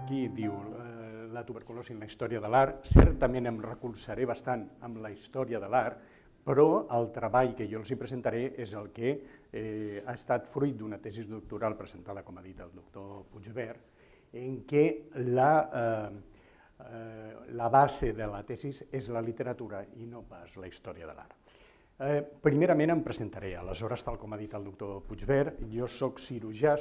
aquí diu la tuberculosi en la història de l'art. Certament em recolzaré bastant amb la història de l'art, però el treball que jo els hi presentaré és el que ha estat fruit d'una tesi doctoral presentada, com ha dit el doctor Puigvert, en què la base de la tesi és la literatura i no pas la història de l'art. Primerament em presentaré, aleshores, tal com ha dit el doctor Puigvert, jo soc cirurgià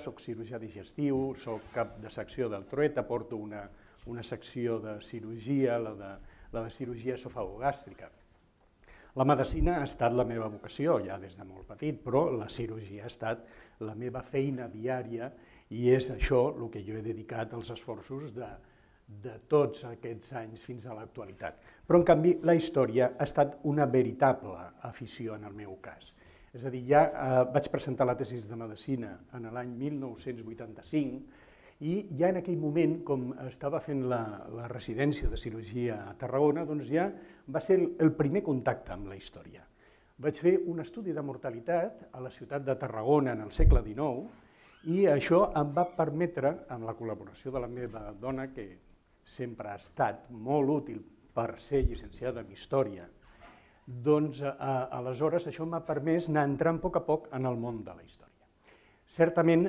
digestiu, soc cap de secció del Trueta, porto una secció de cirurgia, la de cirurgia esofagogàstrica. La medicina ha estat la meva vocació ja des de molt petit, però la cirurgia ha estat la meva feina diària i és això el que jo he dedicat als esforços de tots aquests anys fins a l'actualitat. Però, en canvi, la història ha estat una veritable afició en el meu cas. És a dir, ja vaig presentar la tesi de medicina en l'any 1985 i ja en aquell moment, com estava fent la residència de cirurgia a Tarragona, doncs ja va ser el primer contacte amb la història. Vaig fer un estudi de mortalitat a la ciutat de Tarragona en el segle XIX i això em va permetre, amb la col·laboració de la meva dona, que sempre ha estat molt útil per ser llicenciada en història, doncs aleshores això m'ha permès anar entrant a poc en el món de la història. Certament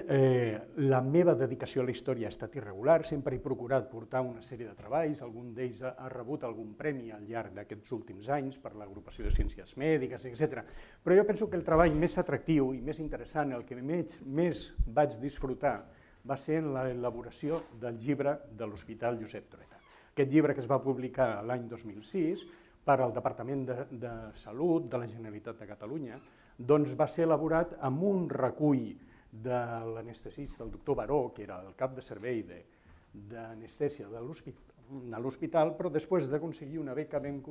la meva dedicació a la història ha estat irregular, sempre he procurat portar una sèrie de treballs, algun d'ells ha rebut algun premi al llarg d'aquests últims anys per l'Agrupació de Ciències Mèdiques, etc. Però jo penso que el treball més atractiu i més interessant, el que més vaig disfrutar, va ser en l'elaboració del llibre de l'Hospital Josep Trueta. Aquest llibre que es va publicar l'any 2006 per al Departament de Salut de la Generalitat de Catalunya, doncs va ser elaborat amb un recull de l'anestesista, el doctor Baró, que era el cap de servei d'anestèsia de l'hospital, però després d'aconseguir una beca vam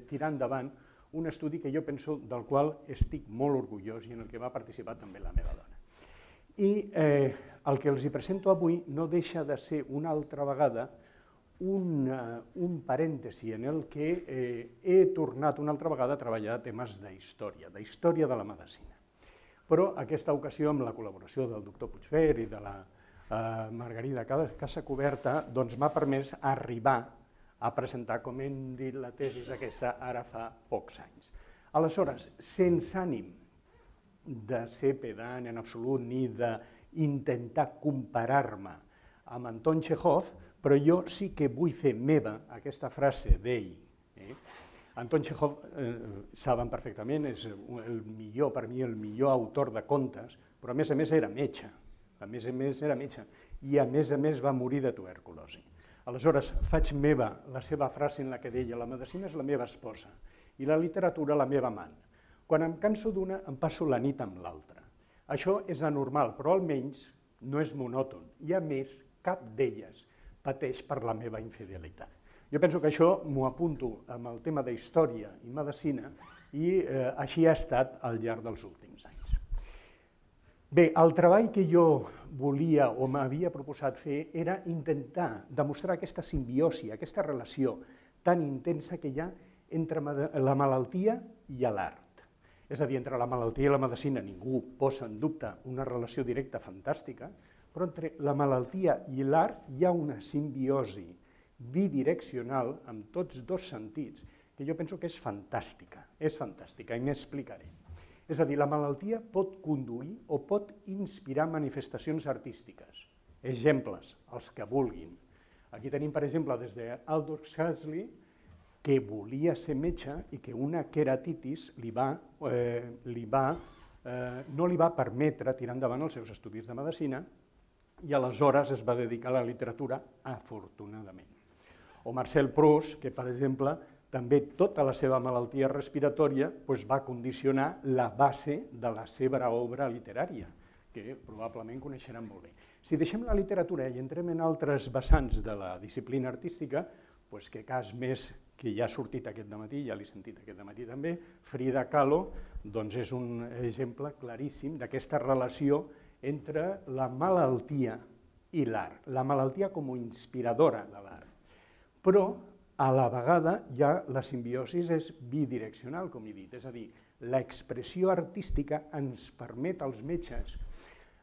tirar endavant un estudi que jo penso del qual estic molt orgullós i en el que va participar també la meva dona. I el que els presento avui no deixa de ser una altra vegada un parèntesi en el que he tornat una altra vegada a treballar temes d'història de la medicina. Però aquesta ocasió, amb la col·laboració del doctor Puigvert i de la Margarida Casacuberta, doncs m'ha permès arribar a presentar, com hem dit, la tesi aquesta ara fa pocs anys. Aleshores, sense ànim de ser pedant en absolut ni d'intentar comparar-me amb Anton Txékhov, però jo sí que vull fer meva aquesta frase d'ell. Anton Txékhov, saben perfectament, és per mi el millor autor de contes, però a més era metge, i a més va morir de tuberculosi. Aleshores, faig meva la seva frase en la que deia: la medicina és la meva esposa i la literatura la meva amant. Quan em canso d'una, em passo la nit amb l'altra. Això és anormal, però almenys no és monòton, i a més, cap d'elles pateix per la meva infidelitat. Jo penso que això m'ho apunto amb el tema d'història i medicina, i així ha estat al llarg dels últims anys. Bé, el treball que jo volia o m'havia proposat fer era intentar demostrar aquesta simbiosi, aquesta relació tan intensa que hi ha entre la malaltia i l'art. És a dir, entre la malaltia i la medicina ningú posa en dubte una relació directa fantàstica, però entre la malaltia i l'art hi ha una simbiosi bidireccional amb tots dos sentits que jo penso que és fantàstica i m'explicaré. És a dir, la malaltia pot conduir o pot inspirar manifestacions artístiques. Exemples, els que vulguin. Aquí tenim, per exemple, des d'Aldous Huxley, que volia ser metge i que una queratitis no li va permetre tirar endavant els seus estudis de medicina i aleshores es va dedicar a la literatura, afortunadament. O Marcel Proust, que, per exemple, també tota la seva malaltia respiratòria va condicionar la base de la seva obra literària, que probablement coneixeran molt bé. Si deixem la literatura i entrem en altres vessants de la disciplina artística, que cas més que ja ha sortit aquest dematí, ja l'he sentit aquest dematí també, Frida Kahlo, doncs és un exemple claríssim d'aquesta relació entre la malaltia i l'art, la malaltia com a inspiradora de l'art. Però, a la vegada, ja la simbiosi és bidireccional, com he dit, és a dir, l'expressió artística ens permet als metges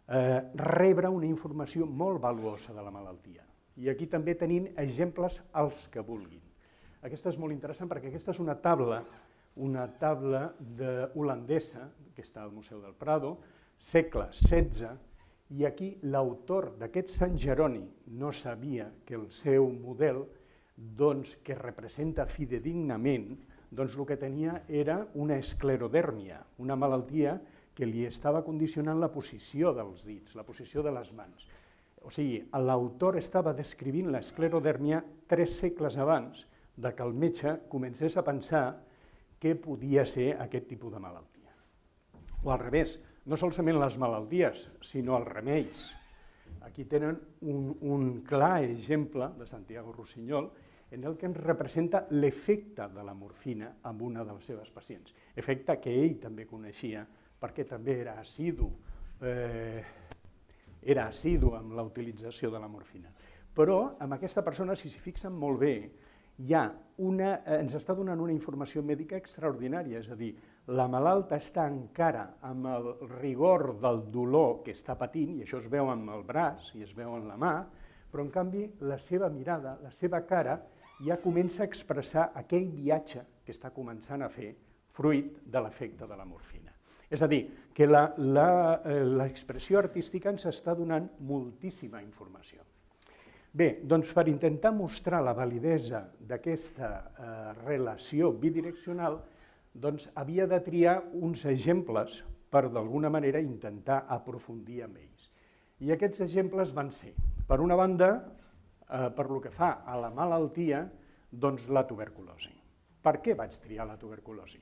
rebre una informació molt valuosa de la malaltia. I aquí també tenim exemples els que vulguin. Aquesta és molt interessant perquè aquesta és una taula holandesa, que està al Museu del Prado, segle XVI, i aquí l'autor d'aquest Sant Jeroni no sabia que el seu model, que representa fidedignament, el que tenia era una esclerodèrmia, una malaltia que li estava condicionant la posició dels dits, la posició de les mans. O sigui, l'autor estava descrivint l'esclerodèrmia 3 segles abans que el metge comencés a pensar què podia ser aquest tipus de malaltia. O al revés, no solament les malalties, sinó els remeis. Aquí tenen un clar exemple de Santiago Rusiñol en el que ens representa l'efecte de la morfina en una de les seves pacients. Efecte que ell també coneixia perquè també era assidu amb la utilització de la morfina. Però amb aquesta persona, si s'hi fixen molt bé, ens està donant una informació mèdica extraordinària, és a dir, la malalta està encara amb el rigor del dolor que està patint, i això es veu amb el braç i es veu en la mà, però en canvi la seva mirada, la seva cara, ja comença a expressar aquell viatge que està començant a fer fruit de l'efecte de la morfina. És a dir, que l'expressió artística ens està donant moltíssima informació. Bé, doncs per intentar mostrar la validesa d'aquesta relació bidireccional, doncs havia de triar uns exemples per d'alguna manera intentar aprofundir en ells. I aquests exemples van ser, per una banda, per lo que fa a la malaltia, doncs la tuberculosi. Per què vaig triar la tuberculosi?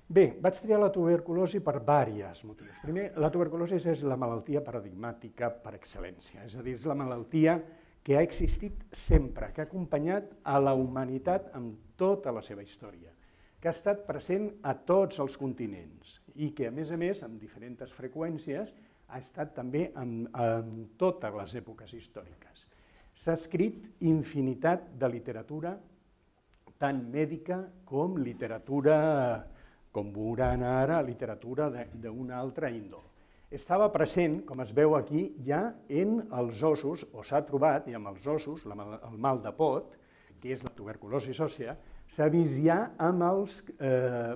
Bé, vaig triar la tuberculosi per diversos motius. Primer, la tuberculosi és la malaltia paradigmàtica per excel·lència, és a dir, és la malaltia que ha existit sempre, que ha acompanyat a la humanitat en tota la seva història, que ha estat present a tots els continents i que, a més, amb diferents freqüències, ha estat també en totes les èpoques històriques. S'ha escrit infinitat de literatura, tant mèdica com literatura, com veuran ara, literatura d'una altra índol. Estava present, com es veu aquí, ja en els ossos, o s'ha trobat, i amb els ossos, el mal de pot, que és la tuberculosi òssea, s'ha vist ja amb les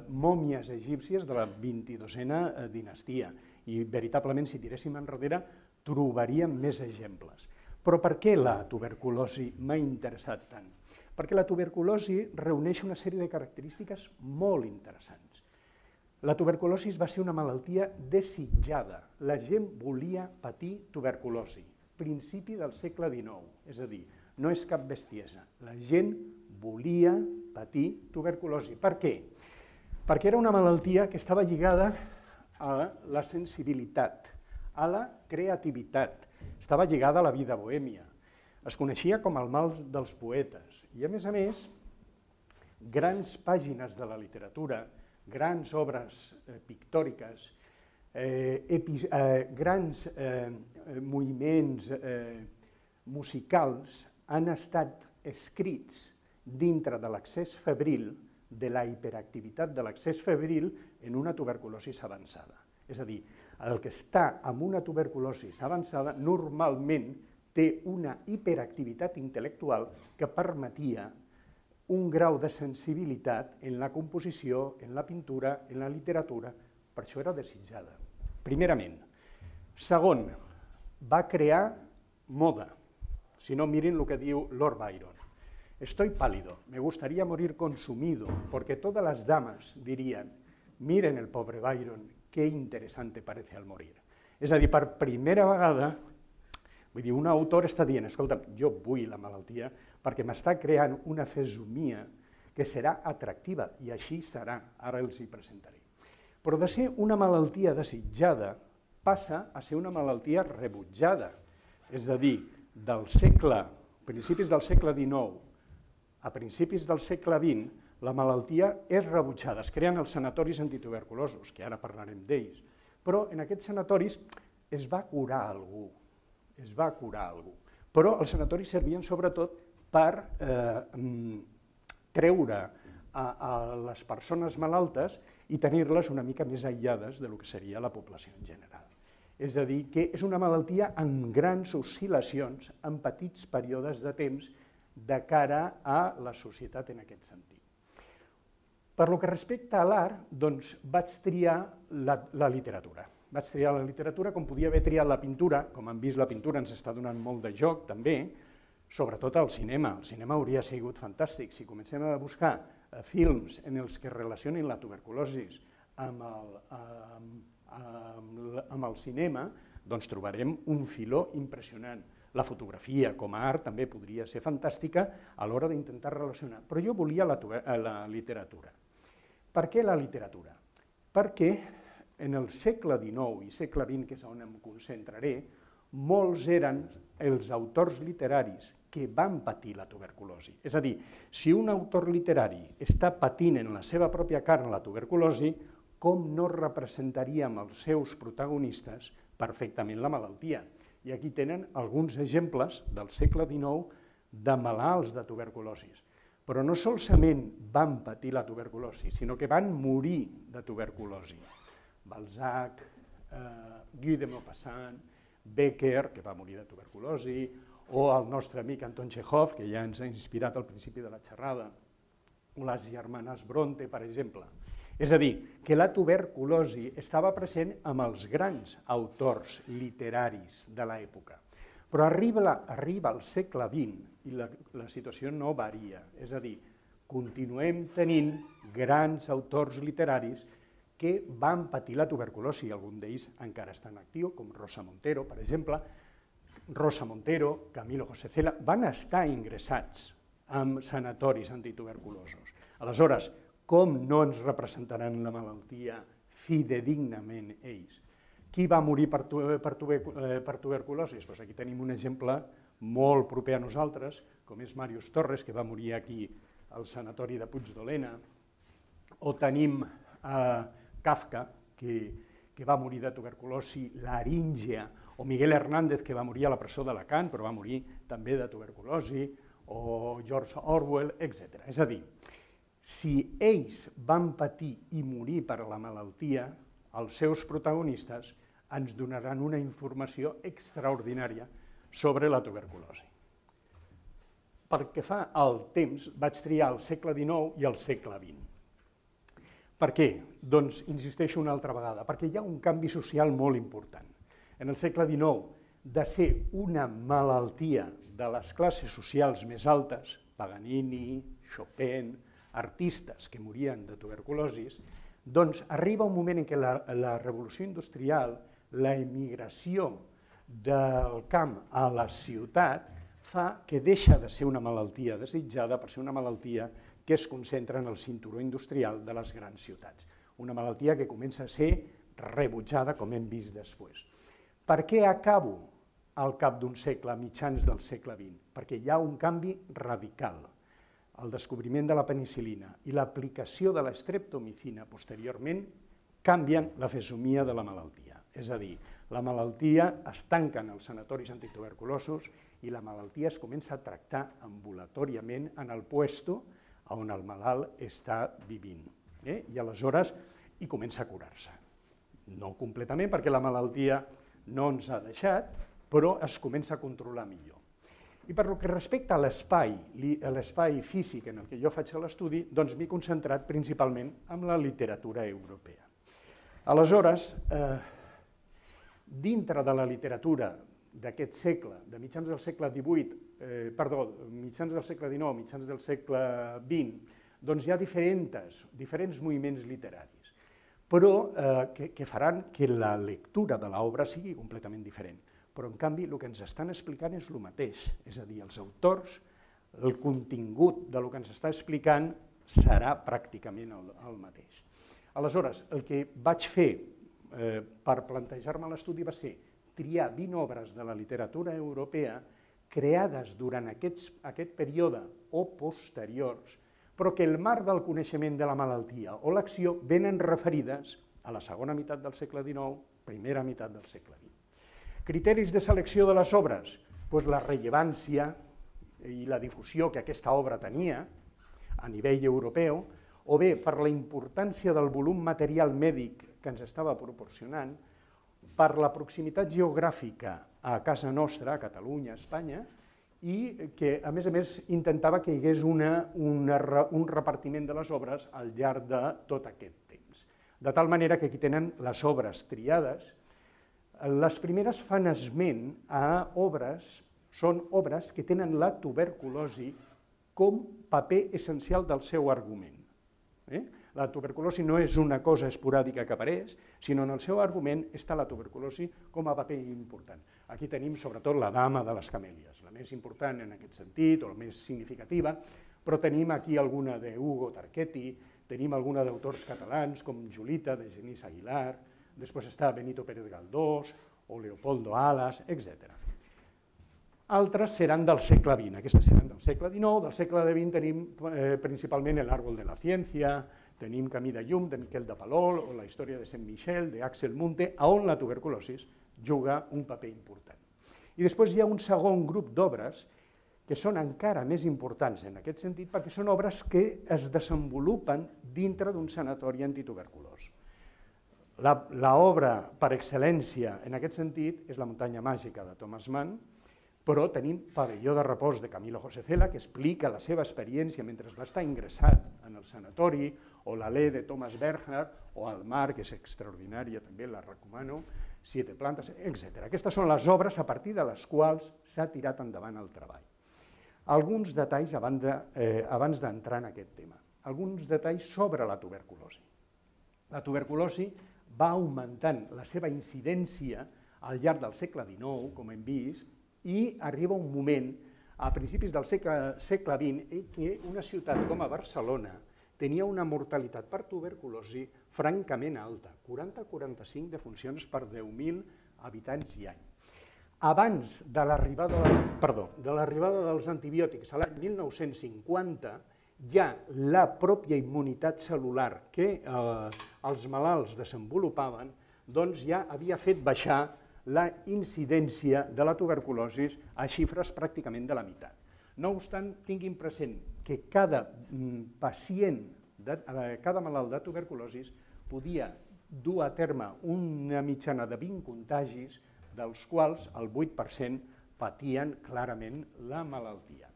mòmies egípcies de la 22a dinastia. I veritablement, si tiréssim enrere, trobaríem més exemples. Però per què la tuberculosi m'ha interessat tant? Perquè la tuberculosi reuneix una sèrie de característiques molt interessants. La tuberculosi va ser una malaltia desitjada. La gent volia patir tuberculosi. Principi del segle XIX, és a dir, no és cap bestiesa. La gent volia patir tuberculosi. Per què? Perquè era una malaltia que estava lligada a la sensibilitat, a la creativitat, estava lligada a la vida bohèmia. Es coneixia com el mal dels poetes i, a més, grans pàgines de la literatura, grans obres pictòriques, grans moviments musicals han estat escrits dintre de l'accés febril, de la hiperactivitat de l'accés febril en una tuberculosi avançada. És a dir, el que està amb una tuberculosi avançada normalment té una hiperactivitat intel·lectual que permetia un grau de sensibilitat en la composició, en la pintura, en la literatura, per això era desitjada. Primerament. Segon, va crear moda. Si no, miren el que diu Lord Byron. Estoy pálido, me gustaría morir consumido, porque todas las damas dirían, miren el pobre Byron, qué interesante parece al morir. És a dir, per primera vegada, vull dir, un autor està dient, escolta'm, jo vull la malaltia perquè m'està creant una fesomia que serà atractiva, i així serà, ara els hi presentaré. Però de ser una malaltia desitjada passa a ser una malaltia rebutjada, és a dir, principis del segle XIX a principis del segle XX, la malaltia és rebutjada. Es creen els sanatoris antituberculosos, que ara parlarem d'ells, però en aquests sanatoris es va curar algú, Però els sanatoris servien sobretot per treure a les persones malaltes i tenir-les una mica més aïllades del que seria la població en general. És a dir, que és una malaltia amb grans oscil·lacions, en petits períodes de temps, de cara a la societat en aquest sentit. Per lo que respecta a l'art, doncs vaig triar la literatura. Vaig triar la literatura com podia haver triat la pintura, com han vist la pintura ens està donant molt de joc també, sobretot al cinema. El cinema hauria sigut fantàstic. Si comencem a buscar films en els que relacionin la tuberculosi amb el cinema, doncs trobarem un filó impressionant. La fotografia com a art també podria ser fantàstica a l'hora d'intentar relacionar, però jo volia la literatura. Per què la literatura? Perquè en el segle XIX i segle XX, que és on em concentraré, molts eren els autors literaris que van patir la tuberculosi. És a dir, si un autor literari està patint en la seva pròpia carn la tuberculosi, com no representaríem els seus protagonistes perfectament la malaltia? I aquí tenen alguns exemples del segle XIX de malalts de tuberculosi. Però no solament van patir la tuberculosi, sinó que van morir de tuberculosi. Balzac, Guy de Maupassant, Becker, que va morir de tuberculosi, o el nostre amic Anton Chekhov, que ja ens ha inspirat al principi de la xerrada, o les germanes Bronte, per exemple. És a dir, que la tuberculosi estava present amb els grans autors literaris de l'època. Però arriba al segle XX i la situació no varia. És a dir, continuem tenint grans autors literaris que van patir la tuberculosi, algun d'ells encara estan en actiu, com Rosa Montero, per exemple. Rosa Montero, Camilo José Cela, van estar ingressats en sanatoris antituberculosos. Aleshores, com no ens representaran la malaltia fidedignament ells? Qui va morir per tuberculosi? Doncs aquí tenim un exemple molt proper a nosaltres, com és Màrius Torres, que va morir aquí al sanatori de Puigdolena, o tenim Kafka, que va morir de tuberculosi laríngea, o Miguel Hernández, que va morir a la presó d'Alacant, però va morir també de tuberculosi, o George Orwell, etc. És a dir, si ells van patir i morir per la malaltia, els seus protagonistes ens donaran una informació extraordinària sobre la tuberculosi. Pel que fa al temps, vaig triar el segle XIX i el segle XX. Per què? Doncs insisteixo una altra vegada, perquè hi ha un canvi social molt important. En el segle XIX, de ser una malaltia de les classes socials més altes, Paganini, Chopin, artistes que morien de tuberculosi, doncs arriba un moment en què la revolució industrial, la emigració del camp a la ciutat, fa que deixa de ser una malaltia desitjada per ser una malaltia que es concentra en el cinturó industrial de les grans ciutats. Una malaltia que comença a ser rebutjada, com hem vist després. Per què acabo al cap d'un segle, a mitjans del segle XX? Perquè hi ha un canvi radical. El descobriment de la penicil·lina i l'aplicació de l'estreptomicina posteriorment canvien la fesomia de la malaltia. És a dir, la malaltia es tanca en els sanatoris antituberculosos i la malaltia es comença a tractar ambulatoriament en el puesto on el malalt està vivint. I aleshores hi comença a curar-se. No completament, perquè la malaltia no ens ha deixat, però es comença a controlar millor. I per que respecta a l'espai físic en el que jo faig l'estudi, doncs m'he concentrat principalment en la literatura europea. Aleshores, dintre de la literatura d'aquest segle, de mitjans del segle XIX, mitjans del segle XIX, mitjans del segle XX, doncs hi ha diferents moviments literaris, però que faran que la lectura de l'obra sigui completament diferent. Però, en canvi, el que ens estan explicant és el mateix, és a dir, els autors, el contingut del que ens està explicant serà pràcticament el mateix. Aleshores, el que vaig fer per plantejar-me l'estudi va ser triar 20 obres de la literatura europea creades durant aquest període o posteriors, però que el marc del coneixement de la malaltia o l'acció venen referides a la segona meitat del segle XIX, primera meitat del segle XX. Criteris de selecció de les obres, doncs la rellevància i la difusió que aquesta obra tenia a nivell europeu, o bé per la importància del volum material mèdic que ens estava proporcionant, per la proximitat geogràfica a casa nostra, a Catalunya, a Espanya, i que, a més, intentava que hi hagués un repartiment de les obres al llarg de tot aquest temps. De tal manera que aquí tenen les obres triades. Les primeres fan esment a obres, són obres que tenen la tuberculosi com paper essencial del seu argument. La tuberculosi no és una cosa esporàdica que apareix, sinó en el seu argument està la tuberculosi com a paper important. Aquí tenim sobretot la Dama de les Camèlies, la més important en aquest sentit, o la més significativa, però tenim aquí alguna d'Hugo Tarqueti, tenim alguna d'autors catalans com Julita, de Genís Aguilar, després està Benito Pérez Galdós, o Leopoldo Alas, etc. Altres seran del segle XX, aquestes seran del segle XIX, del segle XX tenim principalment El árbol de la ciència, tenim Camí de llum, de Miquel de Palol, o la història de Saint Michel, d'Axel Munte, on la tuberculosi juga un paper important. I després hi ha un segon grup d'obres que són encara més importants en aquest sentit perquè són obres que es desenvolupen dintre d'un sanatori antituberculós. L'obra per excel·lència en aquest sentit és La muntanya màgica de Thomas Mann, però tenim Pavelló de repòs de Camilo José Cela, que explica la seva experiència mentre va estar ingressat en el sanatori, o l'Alè de Thomas Bernhard, o El mar, que és extraordinària, també la recomano, Siete plantes, etc. Aquestes són les obres a partir de les quals s'ha tirat endavant el treball. Alguns detalls abans d'entrar en aquest tema. Alguns detalls sobre la tuberculosi. La tuberculosi va augmentant la seva incidència al llarg del segle XIX, com hem vist, i arriba un moment, a principis del segle XX, en què una ciutat com a Barcelona tenia una mortalitat per tuberculosi francament alta, 40-45 defuncions per 10.000 habitants i any. Abans de l'arribada dels antibiòtics a l'any 1950, ja la pròpia immunitat cel·lular que els malalts desenvolupaven, doncs ja havia fet baixar la incidència de la tuberculosi a xifres pràcticament de la meitat. No obstant, tinguin present que cada malalt de tuberculosi podia dur a terme una mitjana de 20 contagis, dels quals el 8% patien clarament la malaltia.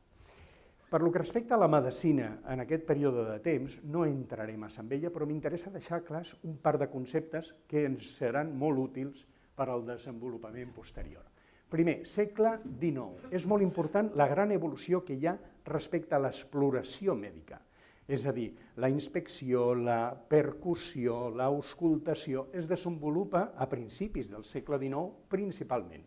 Per lo que respecta a la medicina en aquest període de temps, no entraré massa en ella, però m'interessa deixar clars un par de conceptes que ens seran molt útils per al desenvolupament posterior. Primer, segle XIX. És molt important la gran evolució que hi ha respecte a l'exploració mèdica. És a dir, la inspecció, la percussió, l'auscultació es desenvolupa a principis del segle XIX principalment.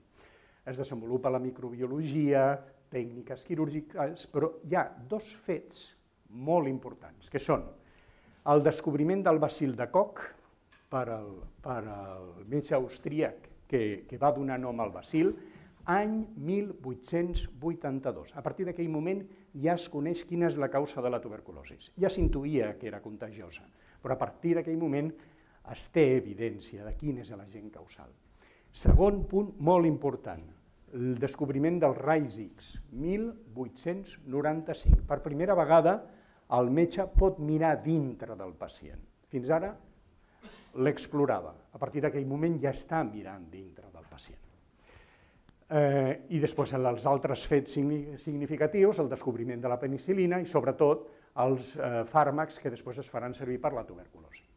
Es desenvolupa la microbiologia, tècniques quirúrgiques, però hi ha dos fets molt importants, que són el descobriment del bacil de Koch per al metge austríac que va donar nom al bacil, any 1882. A partir d'aquell moment ja es coneix quina és la causa de la tuberculosi. Ja s'intuïa que era contagiosa, però a partir d'aquell moment es té evidència de quin és l'agent causal. Segon punt molt important, el descobriment dels raigs X, 1895. Per primera vegada el metge pot mirar dintre del pacient. Fins ara l'explorava. A partir d'aquell moment ja està mirant dintre del pacient. I després els altres fets significatius, el descobriment de la penicil·lina i sobretot els fàrmacs que després es faran servir per la tuberculosi.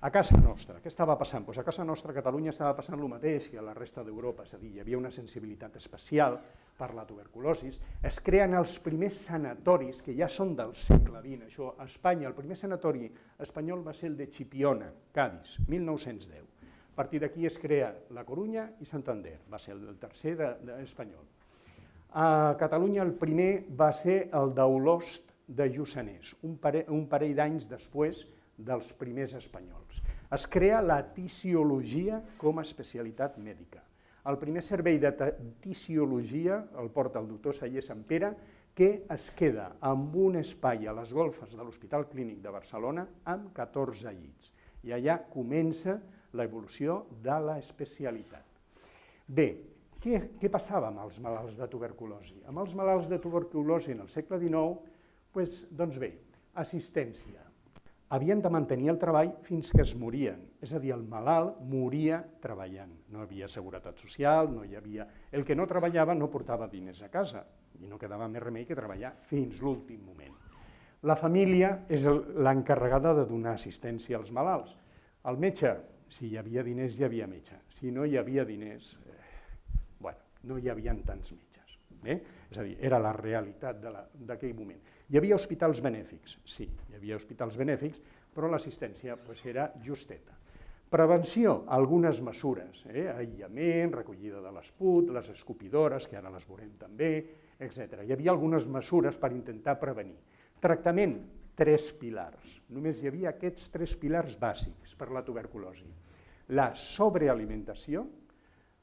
A casa nostra, què estava passant? A casa nostra, a Catalunya, estava passant el mateix que a la resta d'Europa, és a dir, hi havia una sensibilitat especial per la tuberculosi. Es creen els primers sanatoris, que ja són del segle XX. Això, a Espanya, el primer sanatori espanyol va ser el de Chipiona, Cádiz, 1910. A partir d'aquí es crea la Corunya i Santander, va ser el tercer espanyol. A Catalunya el primer va ser el d'Olost de Lluçanès, un parell d'anys després dels primers espanyols. Es crea la tisiologia com a especialitat mèdica. El primer servei de tisiologia el porta el doctor Saller Sampere, que es queda amb un espai a les golfes de l'Hospital Clínic de Barcelona amb 14 llits. I allà comença l'evolució de l'especialitat. Bé, què passava amb els malalts de tuberculosi? Amb els malalts de tuberculosi en el segle XIX, doncs bé, assistència. havien de mantenir el treball fins que es morien. És a dir, el malalt moria treballant. No hi havia seguretat social, no hi havia... El que no treballava no portava diners a casa i no quedava més remei que treballar fins l'últim moment. La família és l'encarregada de donar assistència als malalts. El metge, si hi havia diners, hi havia metge. Si no hi havia diners, no hi havia tants metges. És a dir, era la realitat d'aquell moment. Hi havia hospitals benèfics, sí, hi havia hospitals benèfics, però l'assistència era justeta. Prevenció, algunes mesures, aïllament, recollida de l'esput, les escopidores, que ara les veurem també, etc. Hi havia algunes mesures per intentar prevenir. Tractament, 3 pilars. Només hi havia aquests 3 pilars bàsics per la tuberculosi. La sobrealimentació,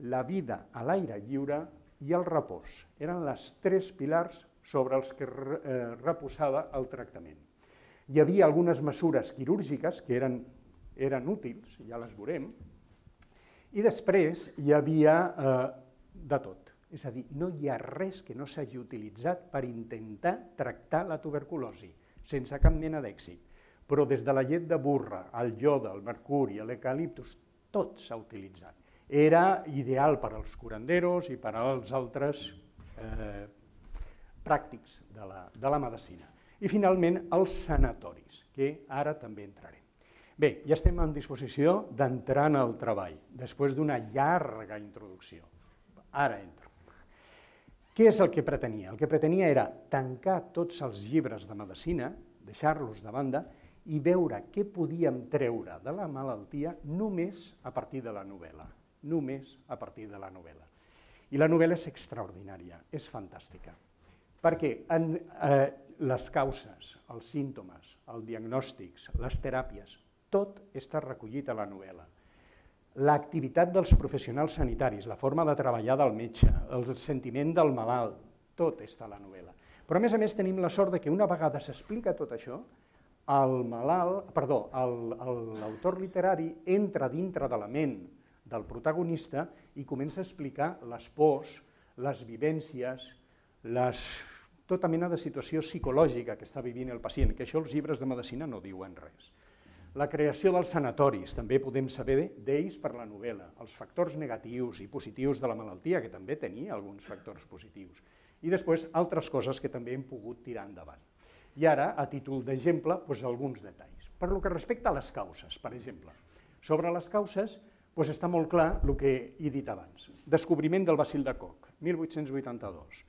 la vida a l'aire lliure i el repòs. Eren els 3 pilars sobre els que reposava el tractament. Hi havia algunes mesures quirúrgiques que eren útils, ja les veurem, i després hi havia de tot. És a dir, no hi ha res que no s'hagi utilitzat per intentar tractar la tuberculosi, sense cap mena d'èxit. Però des de la llet de burra, el iode, el mercuri, l'eucaliptus, tot s'ha utilitzat. Era ideal per als curanderos i per als altres pràctics de la medicina. I finalment els sanatoris, que ara també entrarem. Bé, ja estem en disposició d'entrar en el treball, després d'una llarga introducció. Ara entro. Què és el que pretenia? El que pretenia era tancar tots els llibres de medicina, deixar-los de banda i veure què podíem treure de la malaltia només a partir de la novel·la. Només a partir de la novel·la. I la novel·la és extraordinària, és fantàstica, perquè les causes, els símptomes, els diagnòstics, les teràpies, tot està recollit a la novel·la. L'activitat dels professionals sanitaris, la forma de treballar del metge, el sentiment del malalt, tot està a la novel·la. Però a més tenim la sort que una vegada s'explica tot això, l'autor literari entra dintre de la ment del protagonista i comença a explicar les pors, les vivències, tota mena de situació psicològica que està vivint el pacient, que això els llibres de medicina no diuen res. La creació dels sanatoris, també podem saber d'ells per la novel·la, els factors negatius i positius de la malaltia, que també tenia alguns factors positius, i després altres coses que també hem pogut tirar endavant. I ara, a títol d'exemple, alguns detalls. Per lo que respecta a les causes, per exemple, sobre les causes està molt clar el que he dit abans. Descobriment del bacil de Koch, 1882.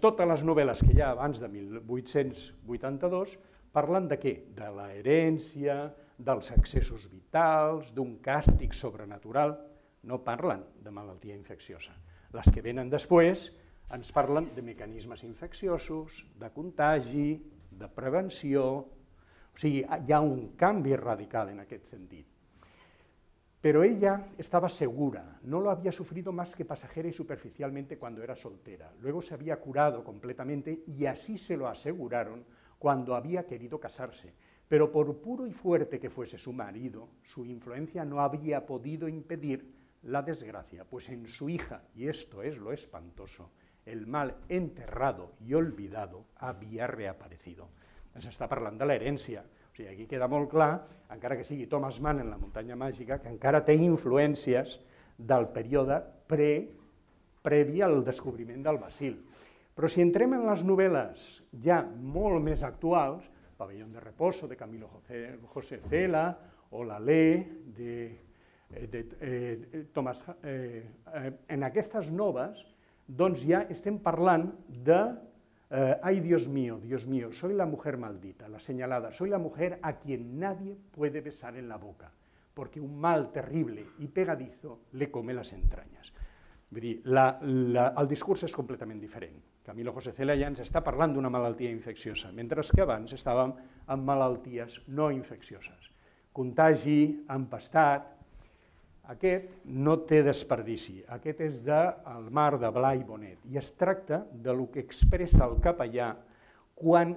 Totes les novel·les que hi ha abans de 1882 parlen de què? De l'herència, dels excessos vitals, d'un càstig sobrenatural. No parlen de malaltia infecciosa. Les que venen després ens parlen de mecanismes infecciosos, de contagi, de prevenció. O sigui, hi ha un canvi radical en aquest sentit. Pero ella estaba segura, no lo había sufrido más que pasajera y superficialmente cuando era soltera. Luego se había curado completamente y así se lo aseguraron cuando había querido casarse. Pero por puro y fuerte que fuese su marido, su influencia no había podido impedir la desgracia, pues en su hija, y esto es lo espantoso, el mal enterrado y olvidado había reaparecido. Ens està parlant de l'herència. O sigui, aquí queda molt clar, encara que sigui Thomas Mann en La muntanya màgica, que encara té influències del període previ al descobriment del bacil. Però si entrem en les novel·les ja molt més actuals, Pabellón de Reposo, de Camilo José Cela, o La Ley, de Thomas... En aquestes noves, doncs ja estem parlant de ay, Dios mío, soy la mujer maldita, la señalada, soy la mujer a quien nadie puede besar en la boca, porque un mal terrible y pegadizo le come las entrañas. Vull dir, el discurs és completament diferent. Camilo José Cela ja ens està parlant d'una malaltia infecciosa, mentre que abans estàvem amb malalties no infeccioses. Contagi, empastat. Aquest no té desperdici, aquest és del Mar de Blai Bonet i es tracta del que expressa el capellà quan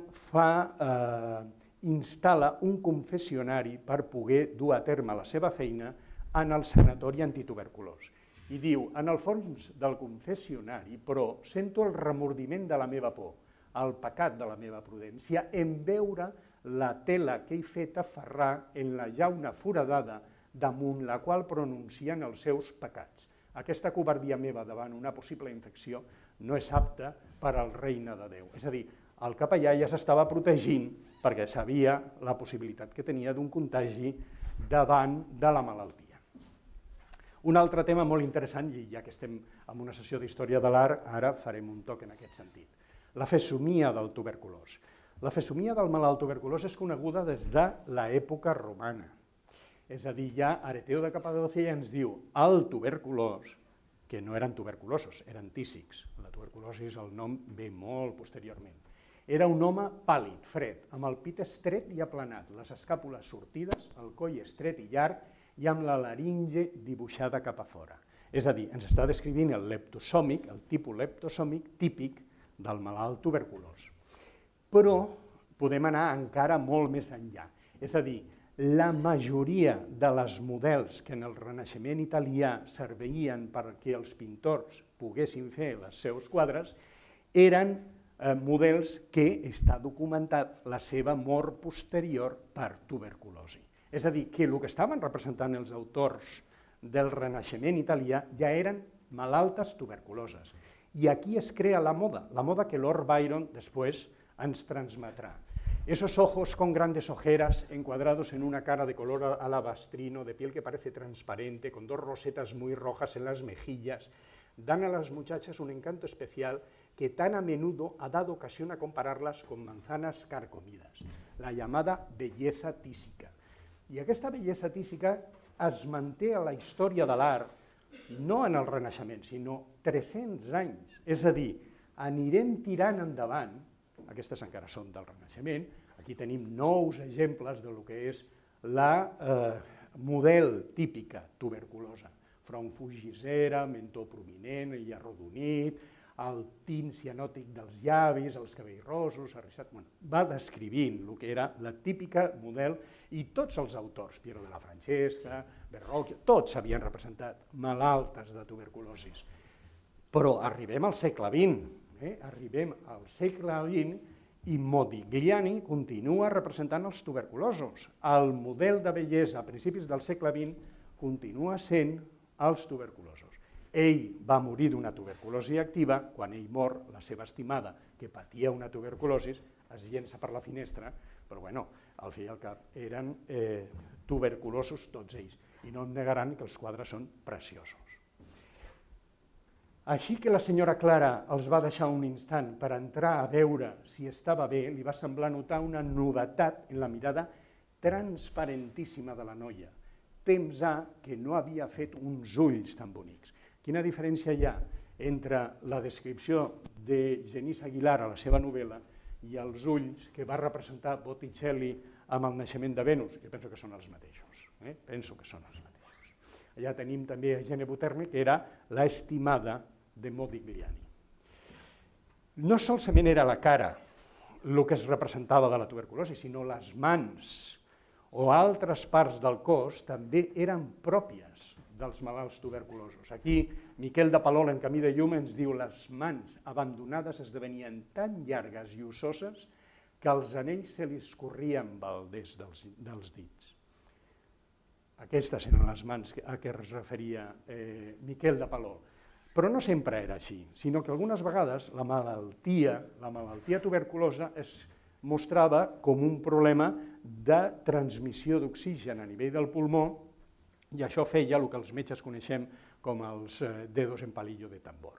instal·la un confessionari per poder dur a terme la seva feina en el sanatori antituberculós. I diu, en el fons del confessionari, però sento el remordiment de la meva por, el pecat de la meva prudència, en veure la tela que he fet aferrar en la llauna foradada damunt la qual pronuncien els seus pecats. Aquesta covardia meva davant una possible infecció no és apta per al regne de Déu. És a dir, el capellà ja s'estava protegint perquè sabia la possibilitat que tenia d'un contagi davant de la malaltia. Un altre tema molt interessant, i ja que estem en una sessió d'història de l'art, ara farem un toc en aquest sentit. La fesomia del tuberculós. La fesomia del malalt tuberculós és coneguda des de l'època romana. És a dir, ja Areteo de Capadòcia ja ens diu el tuberculós, que no eren tuberculosos, eren tísics. La tuberculosi, el nom ve molt posteriorment. Era un home pàl·lid, fred, amb el pit estret i aplanat, les escàpules sortides, el coll estret i llarg i amb la laringe dibuixada cap a fora. És a dir, ens està descrivint el leptosòmic, el tipus leptosòmic típic del malalt tuberculós. Però podem anar encara molt més enllà. És a dir, la majoria de les models que en el Renaixement italià serveixen perquè els pintors poguessin fer els seus quadres eren models que està documentat la seva mort posterior per tuberculosi. És a dir, que el que estaven representant els autors del Renaixement italià ja eren malaltes tuberculoses. I aquí es crea la moda que Lord Byron després ens transmetrà. Esos ojos con grandes ojeras encuadrados en una cara de color alabastrino, de piel que parece transparente, con dos rosetas muy rojas en las mejillas, dan a las muchachas un encanto especial que tan a menudo ha dado ocasión a compararlas con manzanas carcomidas, la llamada belleza tísica. I aquesta bellesa tísica es manté a la història de l'art, no en el Renaixement, sinó 300 anys. És a dir, anirem tirant endavant, aquestes encara són del Renaixement, aquí tenim nous exemples del que és la model típica tuberculosa, front fugisera, mentó prominent i arrodonit, el tint cianòtic dels llavis, els cabells rossos, arrissat, va descrivint el que era la típica model i tots els autors, Piero de la Francesca, Verrocchio, tots havien representat malaltes de tuberculosi. Però arribem al segle XX, arribem al segle XX i Modigliani continua representant els tuberculosos. El model de bellesa a principis del segle XX continua sent els tuberculosos. Ell va morir d'una tuberculosi activa, quan ell mor, la seva estimada, que patia una tuberculosi, es llença per la finestra, però bueno, al fi i al cap eren tuberculosos tots ells, i no em negaran que els quadres són preciosos. Així que la senyora Clara els va deixar un instant per entrar a veure si estava bé, li va semblar notar una novetat en la mirada transparentíssima de la noia. Temps ha que no havia fet uns ulls tan bonics. Quina diferència hi ha entre la descripció de Genís Aguilar a la seva novel·la i els ulls que va representar Botticelli amb el naixement de Venus? Jo penso que són els mateixos. Penso que són els mateixos. Allà tenim també a Gene Buterne, que era l'estimada de Modigliani. No solament era la cara el que es representava de la tuberculosi, sinó les mans o altres parts del cos també eren pròpies dels malalts tuberculosos. Aquí, Miquel de Palol, en Camí de llum, ens diu les mans abandonades esdevenien tan llargues i ossoses que els anells se li escorrien balders dels dits. Aquestes eren les mans a què es referia Miquel de Palol. Però no sempre era així, sinó que algunes vegades la malaltia tuberculosa es mostrava com un problema de transmissió d'oxigen a nivell del pulmó, i això feia el que els metges coneixem com els dedos en palillo de tambor.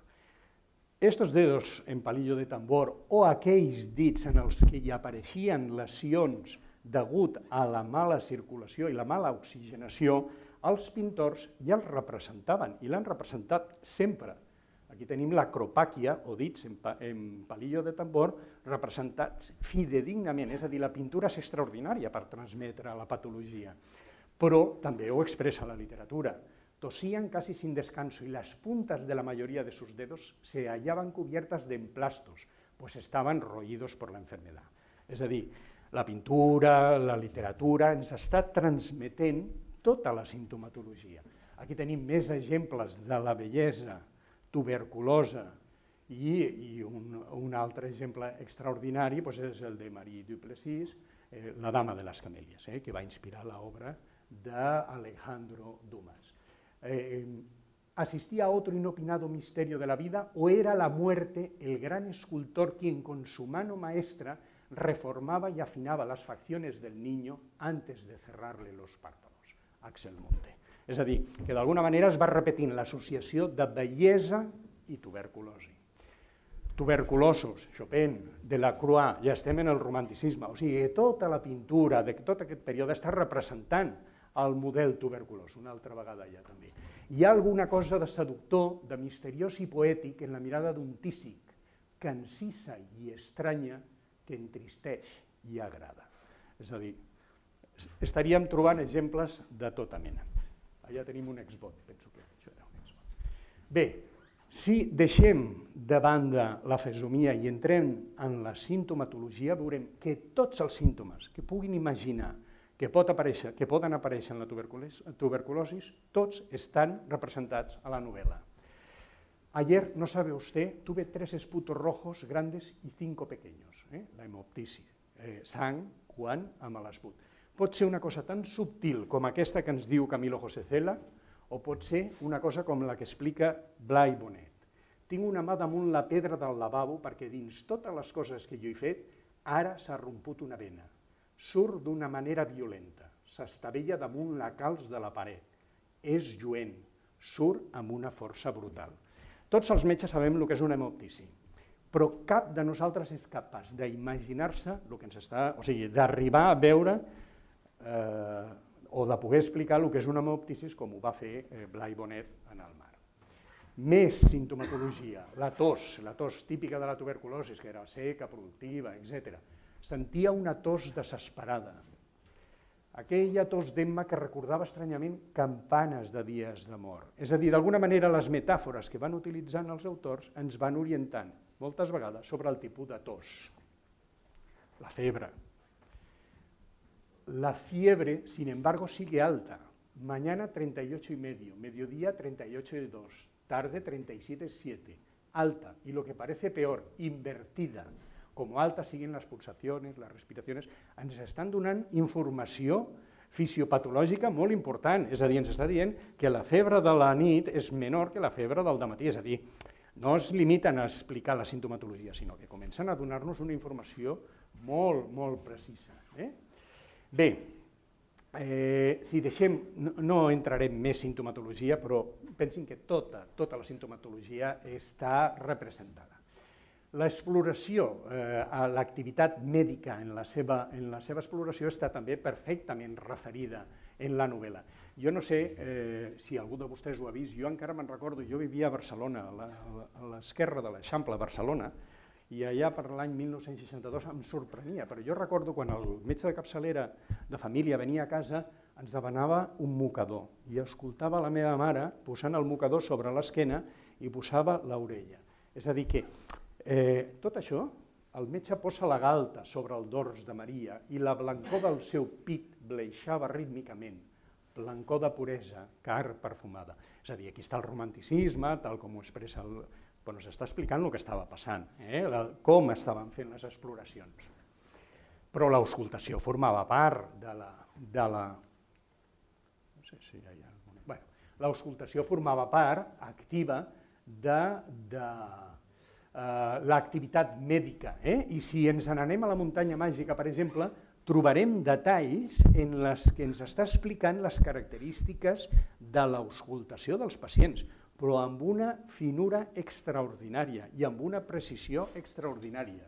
Estos dedos en palillo de tambor o aquells dits en els que hi apareixien lesions degut a la mala circulació i la mala oxigenació, els pintors ja els representaven i l'han representat sempre. Aquí tenim l'acropàquia o dits en palillo de tambor representats fidedignament, és a dir, la pintura és extraordinària per transmetre la patologia. Però també ho expressa la literatura. Tosían casi sin descanso y las puntas de la mayoría de sus dedos se hallaban cubiertas de emplastos, pues estaban roídos por la enfermedad. És a dir, la pintura, la literatura ens està transmetent tota la sintomatologia. Aquí tenim més exemples de la bellesa tuberculosa i un altre exemple extraordinari és el de Marie Duplessis, La dama de las camelias, que va inspirar l'obra d'Alejandro Dumas. ¿Asistía a otro inopinado misterio de la vida o era la muerte el gran escultor quien con su mano maestra reformaba y afinaba las facciones del niño antes de cerrarle los párpados? Axel Monte. És a dir, que d'alguna manera es va repetint l'associació de bellesa i tuberculosi. Tuberculosos, Chopin, Delacroix, ja estem en el romanticisme, o sigui, tota la pintura de tot aquest període està representant el model tuberculós, una altra vegada ja també. Hi ha alguna cosa de seductor, de misteriós i poètic en la mirada d'un tísic que encisa i estranya, que entristeix i agrada. És a dir, estaríem trobant exemples de tota mena. Allà tenim un exvot, penso que això era un exvot. Bé, si deixem de banda la fesomia i entrem en la sintomatologia, veurem que tots els símptomes que puguin imaginar que poden aparèixer en la tuberculosi, tots estan representats a la novel·la. Ayer, no sabe usted, tuve 3 esputos rojos grandes y 5 pequeños, la hemoptisis, sang, quan, amb l'esput. Pot ser una cosa tan subtil com aquesta que ens diu Camilo José Cela, o pot ser una cosa com la que explica Blai Bonet. Tinc una mà damunt la pedra del lavabo perquè dins totes les coses que jo he fet, ara s'ha romput una vena. Surt d'una manera violenta, s'estavella damunt la calç de la paret. És lluent, surt amb una força brutal. Tots els metges sabem el que és una hemoptisi, però cap de nosaltres és capaç d'imaginar-se el que ens està, o sigui, d'arribar a veure o de poder explicar el que és una hemoptisi com ho va fer Blai Bonet en el mar. Més sintomatologia, la tos típica de la tuberculosi, que era seca, productiva, etc. Sentia una tos desesperada. Aquella tos d'Emma que recordava estranyament campanes de dies d'amor. És a dir, d'alguna manera les metàfores que van utilitzant els autors ens van orientant, moltes vegades, sobre el tipus de tos. La febre. La fiebre, sin embargo, sigue alta. Mañana 38,5, mediodía 38,2, tarde 37,7. Alta, y lo que parece peor, invertida. Como alta siguen las pulsaciones, las respiraciones. Ens estan donant informació fisiopatològica molt important. És a dir, ens està dient que la febre de la nit és menor que la febre del dematí. És a dir, no es limiten a explicar la sintomatologia, sinó que comencen a donar-nos una informació molt, molt precisa. Bé, si deixem, no entrarem més sintomatologia, però pensin que tota la sintomatologia està representada. L'exploració, l'activitat mèdica en la seva exploració està també perfectament referida en la novel·la. Jo no sé si algú de vostès ho ha vist, jo encara me'n recordo, jo vivia a Barcelona, a l'esquerra de l'Eixample, a Barcelona, i allà per l'any 1962 em sorprenia, però jo recordo quan el metge de capçalera de família venia a casa, ens demanava un mocador, i escoltava la meva mare posant el mocador sobre l'esquena i posava l'orella. És a dir que tot això, el metge posa la galta sobre el dors de Maria i la blancor del seu pit bleixava rítmicament, blancor de puresa, car perfumada. És a dir, aquí està el romanticisme, tal com ho expressa el... Però ens està explicant el que estava passant, com estaven fent les exploracions. Però l'auscultació formava part de la... No sé si hi ha alguna... Bé, l'auscultació formava part activa de l'activitat mèdica. I si ens n'anem a la muntanya màgica, per exemple, trobarem detalls en els que ens està explicant les característiques de l'auscultació dels pacients, però amb una finura extraordinària i amb una precisió extraordinària.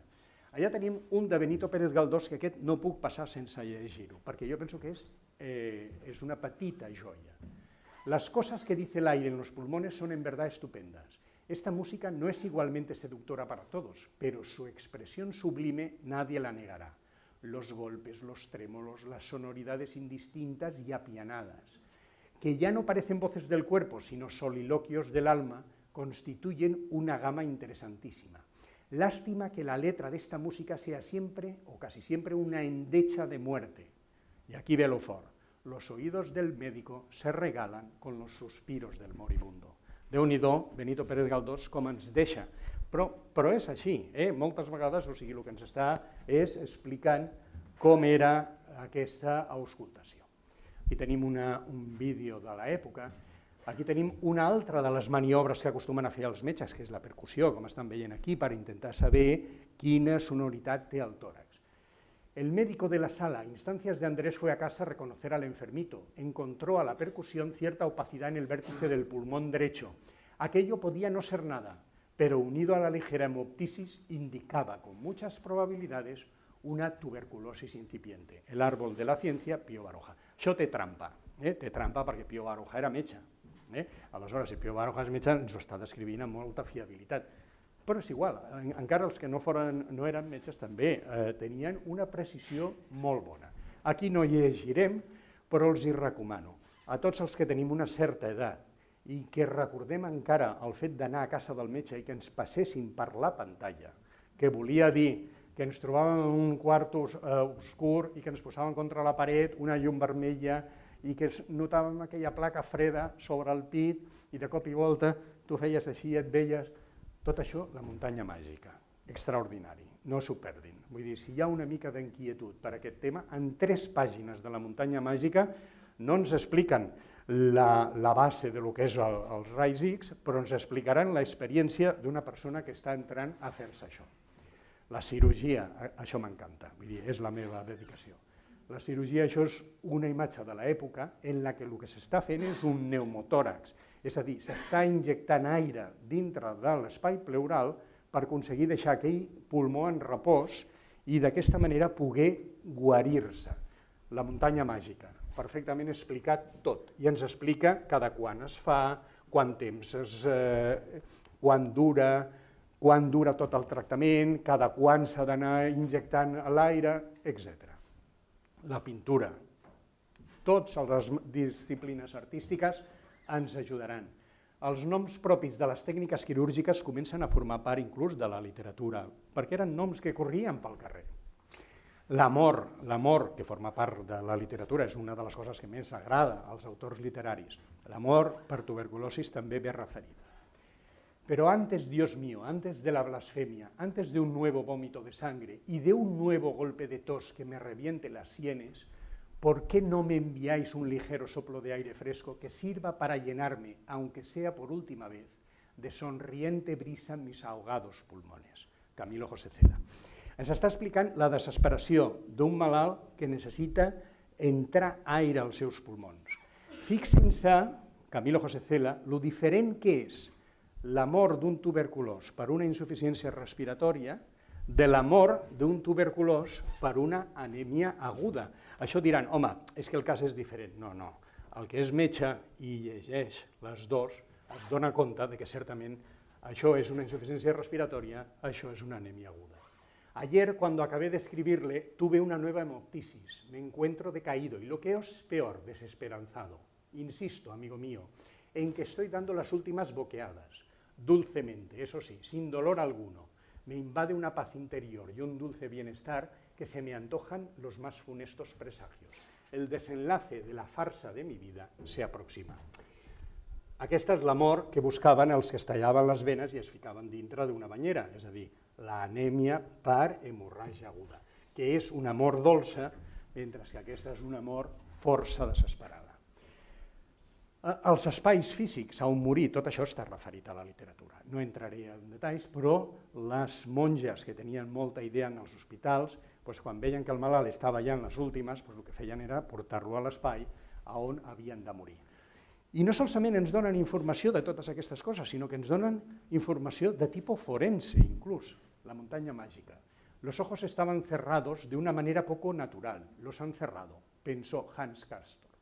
Allà tenim un de Benito Pérez Galdós, que aquest no puc passar sense llegir-ho, perquè jo penso que és una petita joia. Las cosas que dice el aire en los pulmones son en verdad estupendas. Esta música no es igualmente seductora para todos, pero su expresión sublime nadie la negará. Los golpes, los trémolos, las sonoridades indistintas y apianadas, que ya no parecen voces del cuerpo, sino soliloquios del alma, constituyen una gama interesantísima. Lástima que la letra de esta música sea siempre, o casi siempre, una endecha de muerte. Y aquí ve lo fort. Los oídos del médico se regalan con los suspiros del moribundo. Déu-n'hi-do, Benito Pérez Galdós, com ens deixa. Però és així, moltes vegades, o sigui, el que ens està és explicant com era aquesta auscultació. Aquí tenim un vídeo de l'època. Aquí tenim una altra de les maniobres que acostumen a fer els metges, que és la percussió, com estan veient aquí, per intentar saber quina sonoritat té el tòrax. El médico de la sala, a instancias de Andrés, fue a casa a reconocer al enfermito. Encontró a la percusión cierta opacidad en el vértice del pulmón derecho. Aquello podía no ser nada, pero unido a la ligera hemoptisis indicaba con muchas probabilidades una tuberculosis incipiente. El árbol de la ciencia, Pío Baroja. Això té trampa perquè Pío Baroja era metge. Aleshores, si Pío Baroja és metge, ens ho està descrivint amb molta fiabilitat. Però és igual, encara els que no eren metges també tenien una precisió molt bona. Aquí no llegirem, però els hi recomano. A tots els que tenim una certa edat i que recordem encara el fet d'anar a casa del metge i que ens passessin per la pantalla, que volia dir que ens trobàvem en un quart obscur i que ens posàvem contra la paret una llum vermella i que notàvem aquella placa freda sobre el pit i de cop i volta tu feies així i et veies. Tot això, la muntanya màgica, extraordinari, no s'ho perdin. Vull dir, si hi ha una mica d'inquietud per aquest tema, en 3 pàgines de la muntanya màgica no ens expliquen la base de lo que és els raigs X, però ens explicaran l'experiència d'una persona que està entrant a fer-se això. La cirurgia, això m'encanta, vull dir, és la meva dedicació. La cirurgia, això és una imatge de l'època en la que el que s'està fent és un pneumotòrax, és a dir, s'està injectant aire dintre de l'espai pleural per aconseguir deixar aquell pulmó en repòs i d'aquesta manera poder guarir-se. La muntanya màgica, perfectament explicat tot, i ens explica cada quan es fa, quant temps, quant dura tot el tractament, cada quan s'ha d'anar injectant l'aire, etc. La pintura. Totes les disciplines artístiques ens ajudaran. Els noms propis de les tècniques quirúrgiques comencen a formar part inclús de la literatura, perquè eren noms que corrien pel carrer. L'amor, que forma part de la literatura, és una de les coses que més agrada als autors literaris. L'amor per tuberculosis també ve referida. Pero antes, Dios mío, antes de la blasfemia, antes de un nuevo vómito de sangre y de un nuevo golpe de tos que me reviente las sienes, ¿por qué no me enviáis un ligero soplo de aire fresco que sirva para llenarme, aunque sea por última vez, de sonriente brisa mis ahogados pulmones? Camilo José Cela. Ens està explicant la desesperació d'un malalt que necessita entrar aire als seus pulmons. Fixin-se, Camilo José Cela, lo diferent que és la mort d'un tuberculós per una insuficiència respiratòria de la mort d'un tuberculós per una anèmia aguda. Això diran, home, és que el cas és diferent. No, no. El que és metge i llegeix les dues es dona compte que certament això és una insuficiencia respiratoria, això es una anemia aguda. Ayer, cuando acabé de escribirle, tuve una nueva hemoptisis, me encuentro decaído y lo que es peor, desesperanzado. Insisto, amigo mío, en que estoy dando las últimas boqueadas, dulcemente, eso sí, sin dolor alguno. Me invade una paz interior y un dulce bienestar que se me antojan los más funestos presagios. El desenlace de la farsa de mi vida se aproxima. Aquesta és l'amor que buscaven els que es tallaven les venes i es ficaven dintre d'una banyera, és a dir, l'anèmia per hemorràgia aguda, que és una mort dolça, mentre que aquesta és una mort força desesperada. Els espais físics on morir, tot això està referit a la literatura. No entraré en detalls, però les monges que tenien molta idea en els hospitals, quan veien que el malalt estava ja en les últimes, el que feien era portar-lo a l'espai on havien de morir. I no solament ens donen informació de totes aquestes coses, sinó que ens donen informació de tipus forense, inclús, la muntanya màgica. Los ojos estaban cerrados de una manera poco natural, los han cerrado, pensó Hans Castorp.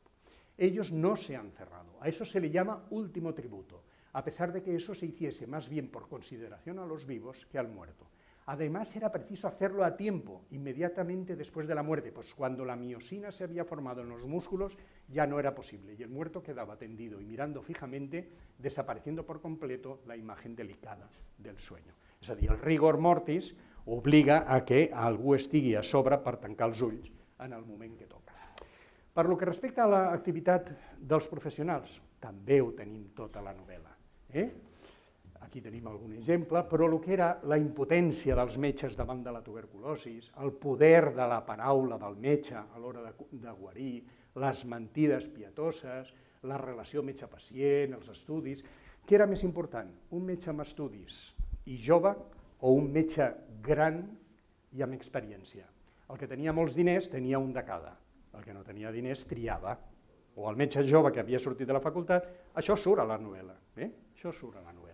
Ellos no se han cerrado, a eso se le llama último tributo, a pesar de que eso se hiciese más bien por consideración a los vivos que al muerto. Además, era preciso hacerlo a tiempo, inmediatamente después de la muerte, pues cuando la miosina se había formado en los músculos ya no era posible y el muerto quedaba tendido y mirando fijamente, desapareciendo por completo la imagen delicada del sueño. És a dir, el rigor mortis obliga a que algú estigui a sobre per tancar els ulls en el moment que toca. Per lo que respecta a l'activitat dels professionals, també ho tenim tota la novel·la. Aquí tenim algun exemple, però el que era la impotència dels metges davant de la tuberculosi, el poder de la paraula del metge a l'hora de guarir, les mentides pietoses, la relació metge-pacient, els estudis. Què era més important? Un metge amb estudis i jove o un metge gran i amb experiència? El que tenia molts diners tenia un de cada, el que no tenia diners triava. O el metge jove que havia sortit de la facultad, això surt a la novel·la. Això surt a la novel·la.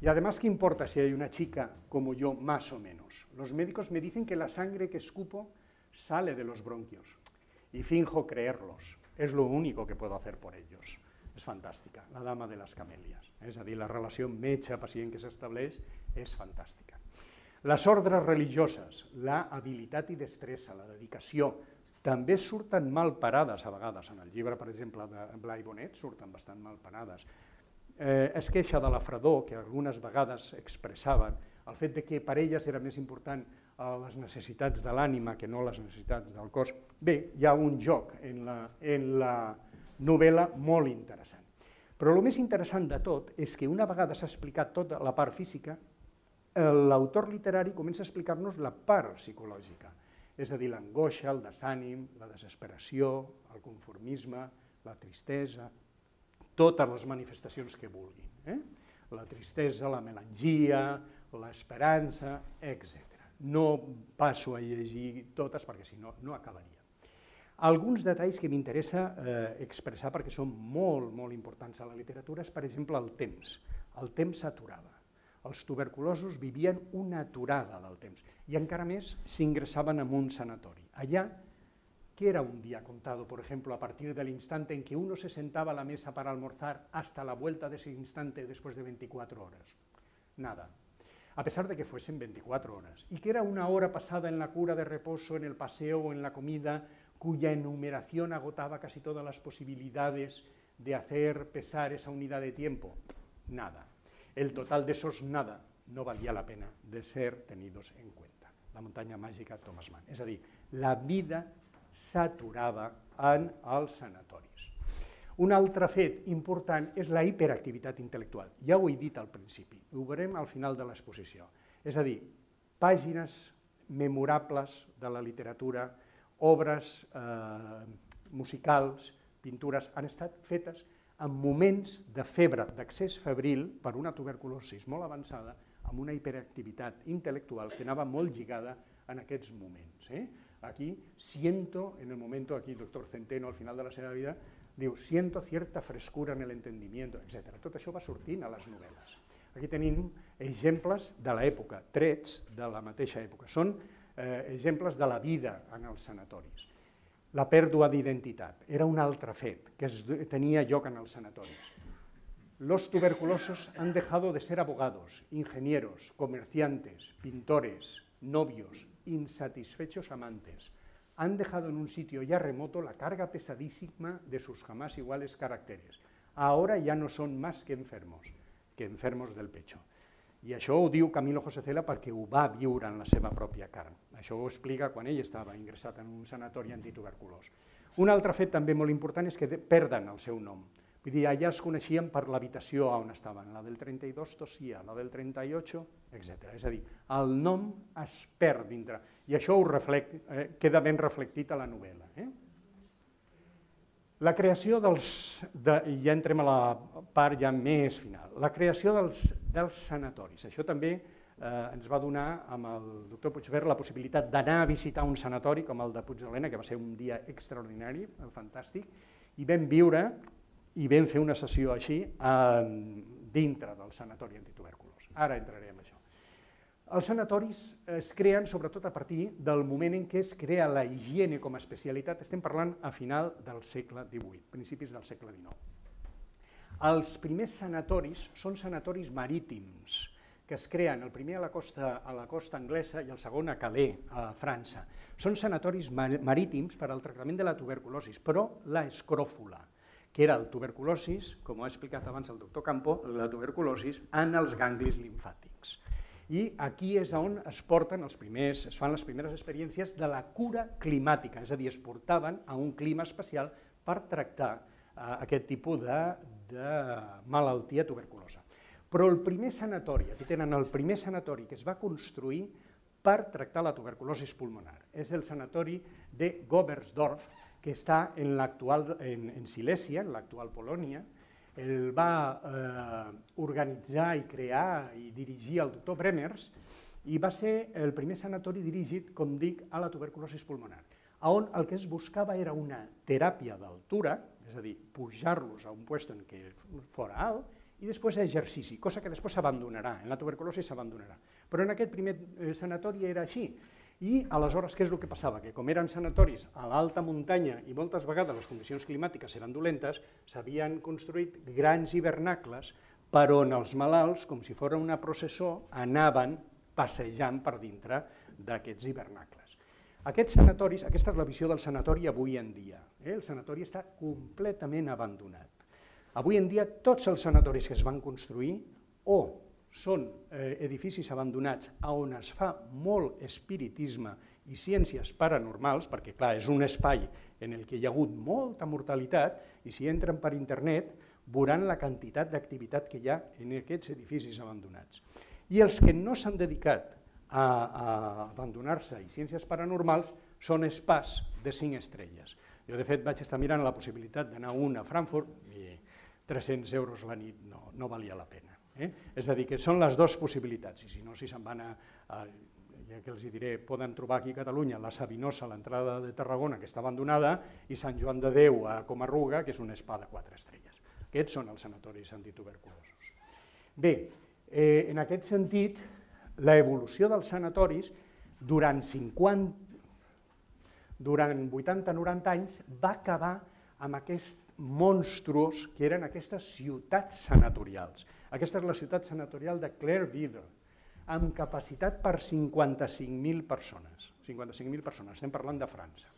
Y además, ¿qué importa si hay una chica como yo, más o menos? Los médicos me dicen que la sangre que escupo sale de los bronquios y finjo creerlos. Es lo único que puedo hacer por ellos. És fantàstica, la dama de les camèlies. És a dir, la relació metge-pacient que s'estableix és fantàstica. Les ordres religioses, la habilitat i destressa, la dedicació, també surten mal parades a vegades. En el llibre, per exemple, de Blai Bonet surten bastant mal parades. Es queixa de la fredor, que algunes vegades expressaven, el fet de que per elles era més important les necessitats de l'ànima que no les necessitats del cos. Bé, hi ha un joc en la novel·la molt interessant. Però el més interessant de tot és que una vegada s'ha explicat tota la part física, l'autor literari comença a explicar-nos la part psicològica, és a dir, l'angoixa, el desànim, la desesperació, el conformisme, la tristesa, totes les manifestacions que vulguin. La tristesa, la melangia, l'esperança, etc. No passo a llegir totes perquè si no, no acabaria. Alguns detalls que m'interessa expressar perquè són molt, molt importants a la literatura és, per exemple, el temps. El temps s'aturava. Els tuberculosos vivien una aturada del temps i encara més s'ingressaven en un sanatori. Allà, ¿qué era un día contado, por ejemplo, a partir del instante en que uno se sentaba a la mesa para almorzar hasta la vuelta de ese instante después de 24 horas? Nada. A pesar de que fuesen 24 horas. Y que era una hora pasada en la cura de reposo, en el paseo o en la comida, cuya enumeración agotaba casi todas las posibilidades de hacer pesar esa unidad de tiempo. Nada. El total de esos nada no valía la pena de ser tenidos en cuenta. La muntanya màgica Thomas Mann. És a dir, la vida s'aturava en els sanatoris. Un altre fet important és la hiperactivitat intel·lectual. Ja ho he dit al principi, ho veurem al final de l'exposició. És a dir, pàgines memorables de la literatura, obres musicals, pintures, han estat fetes en moments de febre, d'accés febril per una tuberculosi molt avançada, amb una hiperactivitat intel·lectual que anava molt lligada en aquests moments. Aquí siento, en el momento, aquí el doctor Centeno al final de la seva vida, diu, siento cierta frescura en el entendimiento, etc. Tot això va sortint a les novel·les. Aquí tenim exemples de l'època, trets de la mateixa època. Són exemples de la vida en els sanatoris. La pèrdua d'identitat era un altre fet que tenia lloc en els sanatoris. Los tuberculosos han dejado de ser abogados, ingenieros, comerciantes, pintores, novios, insatisfechos amantes. Han dejado en un sitio ya remoto la carga pesadísima de sus jamás iguales caracteres. Ahora ya no son más que enfermos del pecho. I això ho diu Camilo José Cela perquè ho va viure en la seva pròpia carn. Això ho explica quan ell estava ingressat en un sanatori antituberculós. Un altre fet també molt important és que perden el seu nom. Vull dir, allà es coneixien per l'habitació on estaven. La del 32 tossia, la del 38, etc. És a dir, el nom es perd dintre. I això queda ben reflectit a la novel·la. La creació ja entrem a la part ja més final, la creació dels sanatoris. Això també ens va donar amb el doctor Puigvert la possibilitat d'anar a visitar un sanatori com el de Puigdemont, que va ser un dia extraordinari, fantàstic, i vam viure i vam fer una sessió així dintre del sanatori antituberculós. Ara entraré en això. Els sanatoris es creen sobretot a partir del moment en què es crea la higiene com a especialitat, estem parlant a final del segle XVIII, principis del segle XIX. Els primers sanatoris són sanatoris marítims, que es creen el primer a la costa anglesa i el segon a Calais, a França. Són sanatoris marítims per al tractament de la tuberculosi, però la escròfula, que era el tuberculosis, com ha explicat abans el doctor Campo, la tuberculosis en els ganglis limfàtics. I aquí és on es fan les primeres experiències de la cura climàtica, és a dir, es portaven a un clima especial per tractar aquest tipus de malaltia tuberculosa. Però el primer sanatori, aquí tenen el primer sanatori que es va construir per tractar la tuberculosi pulmonar. És el sanatori de Gobersdorf, que està en Silèsia, en l'actual Polònia. El va organitzar i crear i dirigir el doctor Bremers i va ser el primer sanatori dirigit, com dic, a la tuberculosi pulmonar, on el que es buscava era una teràpia d'altura, és a dir, pujar-los a un lloc en què fora alt, i després exercici, cosa que després s'abandonarà, en la tuberculosi s'abandonarà. Però en aquest primer sanatori era així. I aleshores què és el que passava? Que com eren sanatoris a l'alta muntanya i moltes vegades les condicions climàtiques eren dolentes, s'havien construït grans hivernacles per on els malalts, com si fos una processó, anaven passejant per dintre d'aquests hivernacles. Aquests sanatoris, aquesta és la visió del sanatori avui en dia. El sanatori està completament abandonat. Avui en dia tots els sanatoris que es van construir o són edificis abandonats on es fa molt espiritisme i ciències paranormals, perquè clar, és un espai en el que hi ha hagut molta mortalitat i si entren per internet veuran la quantitat d'activitat que hi ha en aquests edificis abandonats. I els que no s'han dedicat a abandonar-se i ciències paranormals són spas de 5 estrelles. Jo de fet vaig estar mirant la possibilitat d'anar a Frankfurt i 300 euros la nit no valia la pena. És a dir, que són les dues possibilitats, i si no, si se'n van ja que els diré, poden trobar aquí a Catalunya la Sabinosa, a l'entrada de Tarragona, que està abandonada, i Sant Joan de Déu a Comarruga, que és un spa de 4 estrelles. Aquests són els sanatoris antituberculosos. Bé, en aquest sentit, l'evolució dels sanatoris durant 80-90 anys va acabar amb aquests monstruos que eren aquestes ciutats sanatorials. Aquesta és la ciutat sanatorial de Clairville, amb capacitat per 55.000 persones. 55.000 persones, estem parlant de França,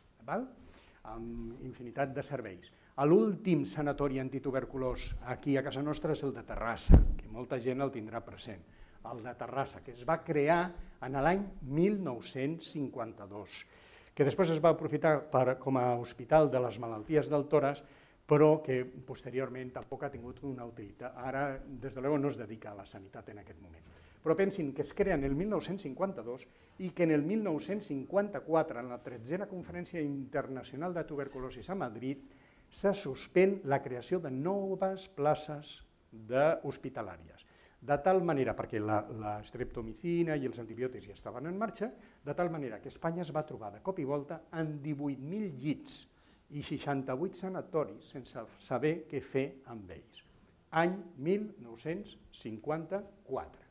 amb infinitat de serveis. L'últim sanatori antituberculós aquí a casa nostra és el de Terrassa, que molta gent el tindrà present, el de Terrassa, que es va crear en l'any 1952, que després es va aprofitar com a hospital de les malalties del tòrax, però que posteriorment tampoc ha tingut una utilitat. Ara, des de luego, no es dedica a la sanitat en aquest moment. Però pensin que es crea en el 1952 i que en el 1954, en la 13a Conferència Internacional de Tuberculosi a Madrid, se suspèn la creació de noves places hospitalàries. De tal manera, perquè la streptomicina i els antibiòtics ja estaven en marxa, de tal manera que Espanya es va trobar de cop i volta amb 18.000 llits i 68 sanatoris sense saber què fer amb ells. Any 1954.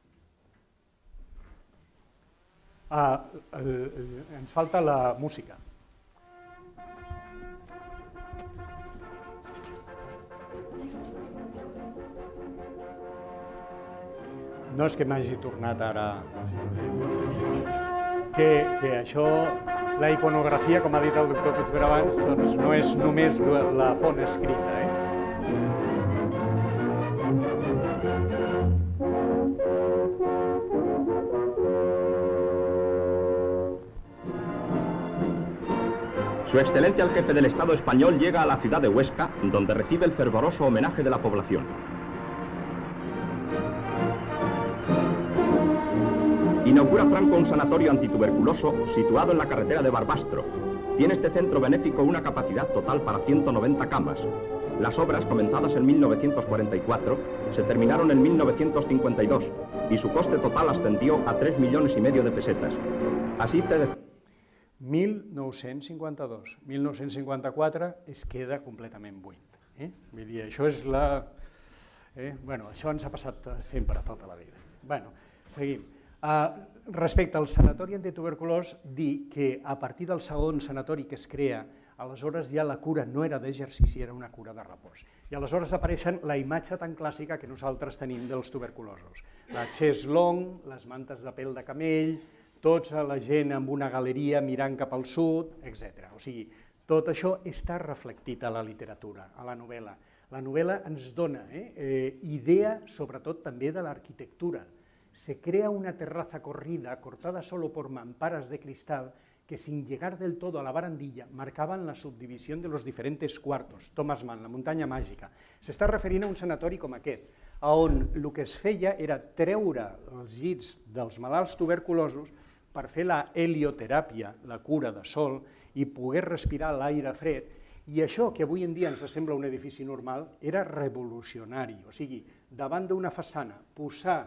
Ens falta la música. No és que m'hagi tornat ara... Que això... La iconografia, com ha dit el doctor Puigvert abans, doncs no és només la font escrita. Su Excelencia el Jefe del Estado español llega a la ciudad de Huesca, donde recibe el fervoroso homenaje de la población. Inaugura Franco un sanatorio antituberculoso situado en la carretera de Barbastro. Tiene este centro benéfico una capacidad total para 190 camas. Las obras, comenzadas en 1944, se terminaron en 1952 y su coste total ascendió a 3,5 millones de pesetas. Así 1952. 1954 es queda completament buit. Vull dir, això és la... Bueno, això ens ha passat sempre, tota la vida. Bueno, seguim. Respecte al sanatori antituberculós, dir que a partir del segon sanatori que es crea, aleshores ja la cura no era d'exercici, era una cura de repòs. I aleshores apareixen la imatge tan clàssica que nosaltres tenim dels tuberculosos. La chaise longue, les mantes de pèl de camell, tota la gent amb una galeria mirant cap al sud, etc. O sigui, tot això està reflectit a la literatura, a la novel·la. La novel·la ens dona idea, sobretot també de l'arquitectura. Se crea una terraza corrida cortada solo por mamparas de cristal que sin llegar del todo a la barandilla marcaban la subdivisión de los diferentes cuartos. Thomas Mann, la muntanya màgica. S'està referint a un sanatori com aquest, on el que es feia era treure els llits dels malalts tuberculosos per fer la helioteràpia, la cura de sol, i poder respirar l'aire fred, i això, que avui en dia ens sembla un edifici normal, era revolucionari. O sigui, davant d'una façana, posar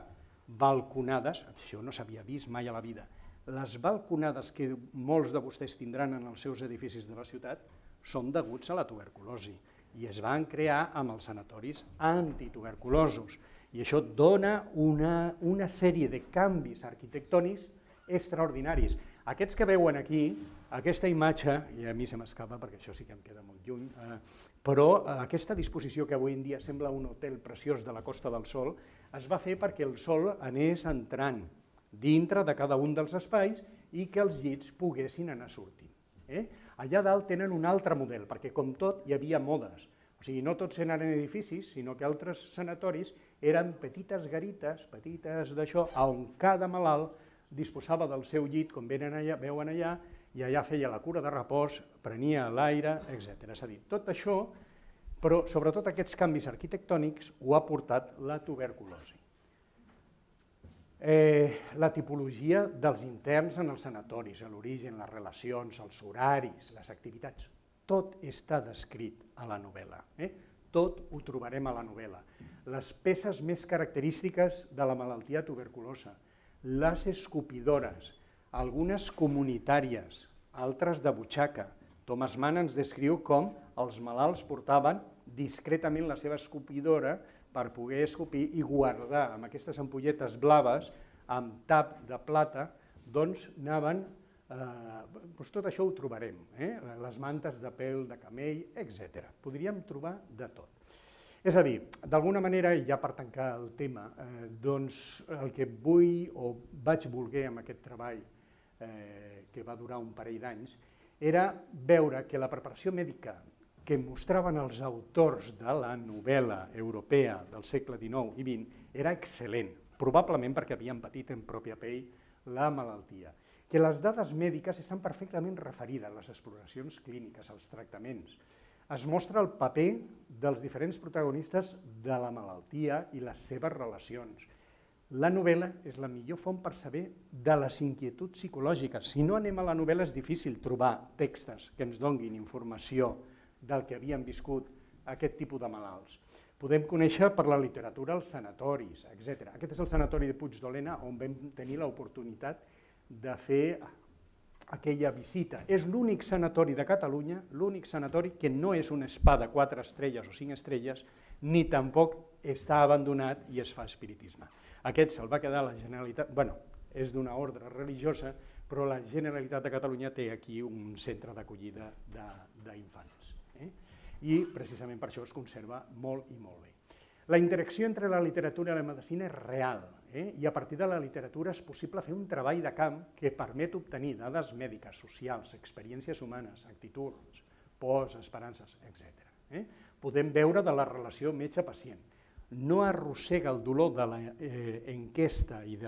balconades, això no s'havia vist mai a la vida, les balconades que molts de vostès tindran en els seus edificis de la ciutat són deguts a la tuberculosi i es van crear amb els sanatoris antituberculosos. I això dona una sèrie de canvis arquitectònics extraordinaris. Aquests que veuen aquí, aquesta imatge, i a mi se m'escapa perquè això sí que em queda molt lluny, però aquesta disposició que avui en dia sembla un hotel preciós de la Costa del Sol es va fer perquè el sol anés entrant dintre de cada un dels espais i que els llits poguessin anar sortint. Allà dalt tenen un altre model, perquè com tot hi havia modes. O sigui, no tots eren edificis, sinó que altres sanatoris eren petites garites, petites d'això, on cada malalt disposava del seu llit, com veuen allà, i allà feia la cura de repòs, prenia l'aire, etc. És a dir, tot això, però sobretot aquests canvis arquitectònics ho ha portat la tuberculosi. La tipologia dels interns en els sanatoris, l'origen, les relacions, els horaris, les activitats, tot està descrit a la novel·la. Tot ho trobarem a la novel·la. Les peces més característiques de la malaltia tuberculosa, les escopidores, algunes comunitàries, altres de butxaca. Thomas Mann ens descriu com els malalts portaven discretament la seva escopidora per poder escopir i guardar amb aquestes ampolletes blaves amb tap de plata, doncs anaven, tot això ho trobarem, les mantes de pèl de camell, etc. Podríem trobar de tot. És a dir, d'alguna manera, i ja per tancar el tema, doncs el que vull o vaig voler amb aquest treball, que va durar un parell d'anys, era veure que la preparació mèdica que mostraven els autors de la novel·la europea del segle XIX i XX era excel·lent, probablement perquè havien patit en pròpia pell la malaltia. Que les dades mèdiques estan perfectament referides a les exploracions clíniques, als tractaments. Es mostra el paper dels diferents protagonistes de la malaltia i les seves relacions. La novel·la és la millor font per saber de les inquietuds psicològiques. Si no anem a la novel·la és difícil trobar textos que ens donguin informació del que havien viscut aquest tipus de malalts. Podem conèixer per la literatura els sanatoris, etc. Aquest és el sanatori de Puigdolena on vam tenir l'oportunitat de fer aquella visita. És l'únic sanatori de Catalunya, l'únic sanatori que no és un spa de 4 estrelles o 5 estrelles, ni tampoc està abandonat i es fa espiritisme. Aquest se'l va quedar la Generalitat, bueno, és d'una ordre religiosa, però la Generalitat de Catalunya té aquí un centre d'acollida d'infants. I precisament per això es conserva molt i molt bé. La interacció entre la literatura i la medicina és real, i a partir de la literatura és possible fer un treball de camp que permet obtenir dades mèdiques, socials, experiències humanes, actituds, pors, esperances, etc. Podem veure de la relació metge-pacient. No arrossega el dolor de l'enquesta i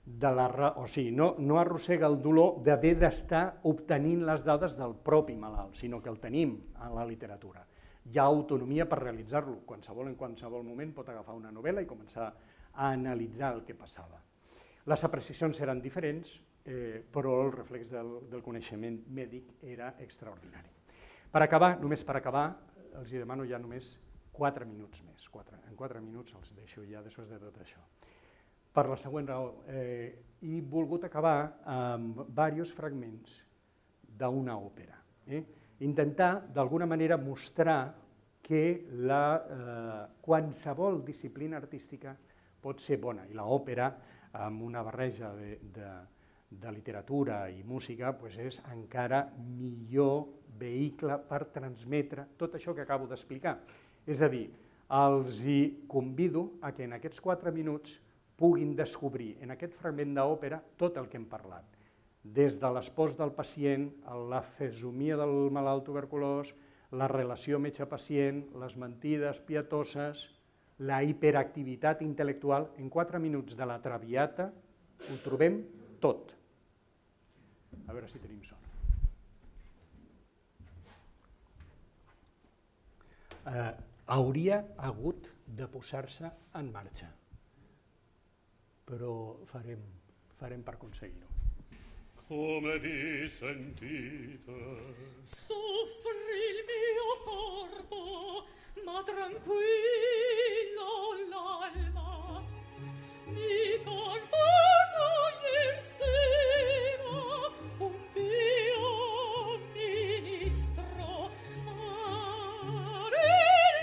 no arrossega el dolor d'haver d'estar obtenint les dades del propi malalt, sinó que el tenim a la literatura. Hi ha autonomia per realitzar-lo. Qualsevol en qualsevol moment pot agafar una novel·la i començar a analitzar el que passava. Les apreciacions eren diferents, però el reflex del coneixement mèdic era extraordinari. Per acabar, només per acabar, els demano ja només 4 minuts més. En 4 minuts els deixo ja després de tot això. Per la següent raó, he volgut acabar amb diversos fragments d'una òpera. Intentar, d'alguna manera, mostrar que qualsevol disciplina artística pot ser bona, i l'òpera, amb una barreja de literatura i música, és encara millor vehicle per transmetre tot això que acabo d'explicar. És a dir, els convido a que en aquests 4 minuts puguin descobrir en aquest fragment d'òpera tot el que hem parlat, des de l'espòs del pacient, la fesomia del malalt tuberculós, la relació metge-pacient, les mentides pietoses, la hiperactivitat intel·lectual. En 4 minuts de la Traviata ho trobem tot. A veure si tenim son. hauria hagut de posar-se en marxa, però farem per aconseguir-ho. Come vi sentite? Soffri il mio corpo, ma tranquillo l'alma. Mi conforto ier sera un pio ministro a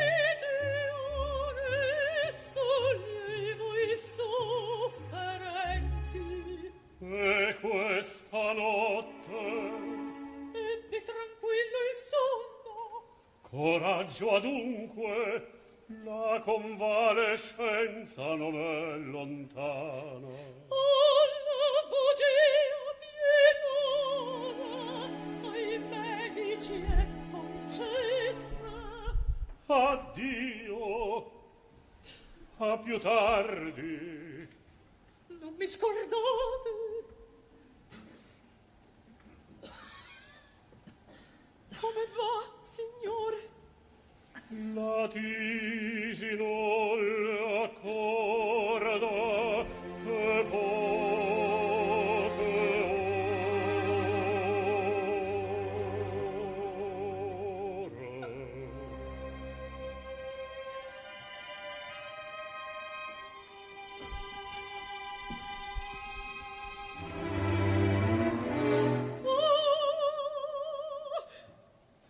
religione sollevo i sofferenti. E questa notte Ebbi tranquillo il sonno. coraggio adunque, la convalescenza non è lontana. Alla bugia pietosa ai medici è concessa. Addio, a più tardi. Non mi scordate. Come va, signore? La tisi non le accorda che poche ore.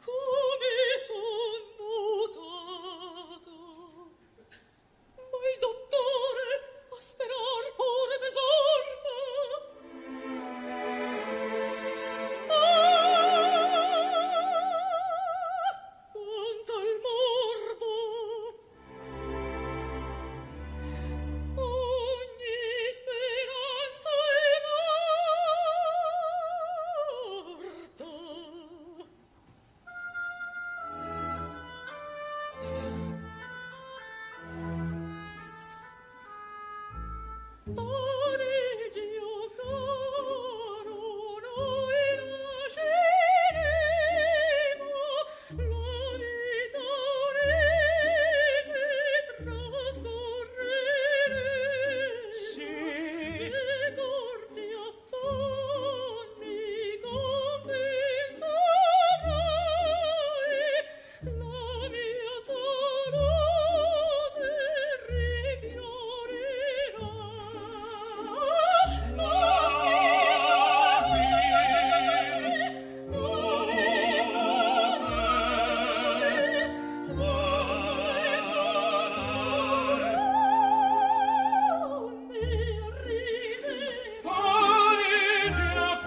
Come son mutato. Ma il dottore a sperar pure m'esorta. Quanto al morbo, ogni speranza è morta. Parigio caro, noi lasceremo la vita rete trascorrere. Sì. Le corsi affanni compenserai, la mia salute rifiorirà. Parigi cara,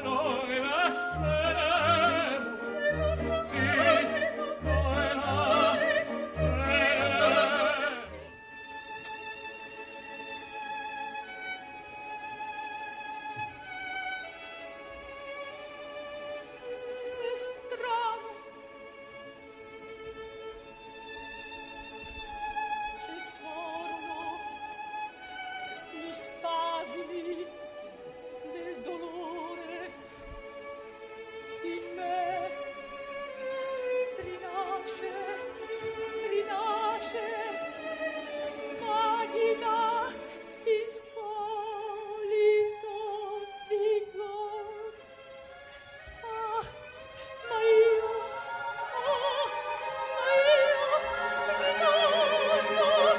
noi lasceremo. Sì, noi lasceremo. È strano. Cessarono gli spasimi del dolore. In me rinasce, agita il solito vigor. Ah, ma io ritorno oh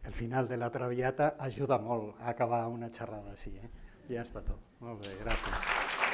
El final de la Traviata ajuda molt a acabar una xerrada així. Ja està tot. Molt bé, gràcies.